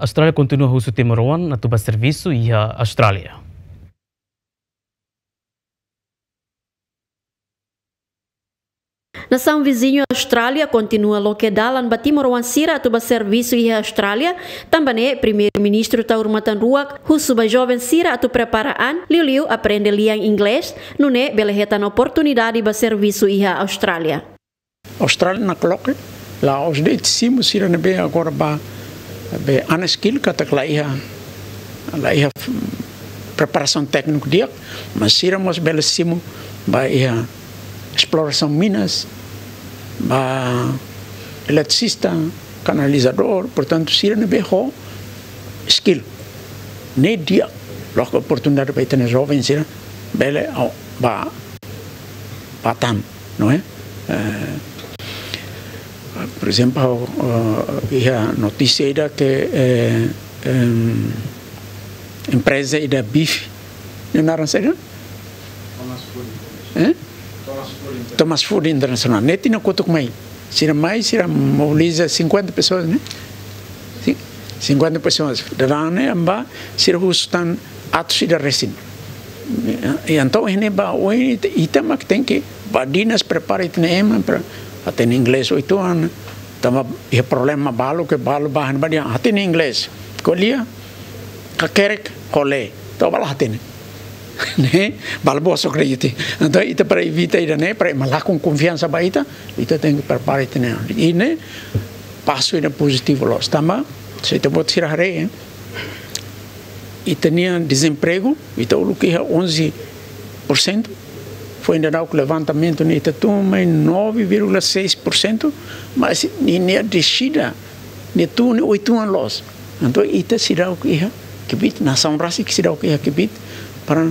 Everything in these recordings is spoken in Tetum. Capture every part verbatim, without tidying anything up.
Austrália kontinua husu timoroan atu ba servisu iha Austrália. Nasaun viziñu Austrália kontinua loke dalan ba timoroan sira atu ba servisu iha Austrália, tanba ne'e Primeiru-Ministru Taur Matan Ruak husu ba joven sira atu prepara an, liuliu aprende lian Inglés, nune'e bele hetan oportunidade ba servisu iha Austrália. Austrália nakloke, la'ós de'it simu sira ne'ebé agora ba, be unskilled katak la iha, la iha, mm, preparasaun tékniku di'ak, mas sira mós bele simu ba iha esplorasaun minas, ba eletricista, kanalizadór, portantu sira ne'ebé ho skill. Ne'e di'ak, loke oportunidade ba ita-nia joven sira bele, oh, ba, ba tan, não é? Eh, por exemplo, eh, iha notísia ida ke, eh, em, empreza ida bife, nia naran saida? Eh? Thomas Food International. Ne'e tinan kotuk mai. Sira mai, sira mobiliza cinquenta pessoas, né? Sim, cinquenta pessoas. Daudaun ne'e, amba, sira husu tan atus ida resin. I entaun, ne'e ba, ohin, ita, ita mak tenke, ba dinas prepara ita-nia ema, para hatene inglés oituan, tanba iha problema balu, ke balu bahan, ba di'ak, hatene inglés. Ko'alia, kakerek, ko'alia. Entaun, ba la hatene. Ne'e, balu bosok de'it. Entaun, ita para evita ida-ne'e, para ema lakon konfiansa ba ita, ita tenke prepara ita-nia. I ne'e, pasu ida pozitivu loos. Tanba, se ita-boot sira haree, eh? Ita-nia dezempregu, ita uluk iha onze por cento, foin daudauk levantamentu ne'e ita tun mai nove vírgula seis por cento, mas nia, nia dexida, nia tun ne'e oituan loos. Entaun ita seidauk iha kbiit, nasaun rasik seidauk iha kbiit para,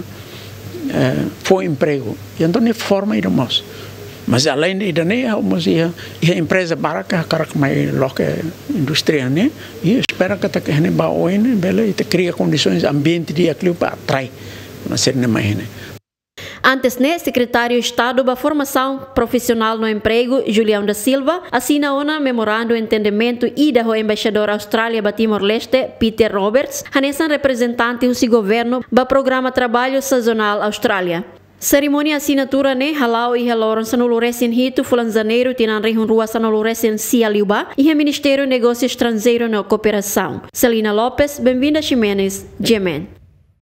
eh, fó empregu. I entaun ne'e forma ida mós. Mas além de ida-ne'e, ha'u mós iha, iha empreza barak hakarak mai loke indústria ne'e, i espera katak iha ne'ebá oin ne'e bele ita kria kondisoens, ambiente di'ak liu para atrai nasaun ne'e mai iha ne'e. Antes ne'e, Sekretáriu Estadu ba Formasaun Profisionál no Empregu, Julião da Silva, asina ona memorandu entendimentu ida ho Embaixadór Austrália ba Timor-Leste, Peter Roberts, hanesan reprezentante husi governu ba programa traballu sazonál Austrália. Serimónia asinatura ne'e hala'o iha loron sanulu-resin-hitu fulan Janeiru tinan rihun rua sanulu-resin-sia liubá, iha Ministériu Negósiu Estranjeiru no Kooperasaun. Celina Lopes, Benvinda Ximenes, G M N.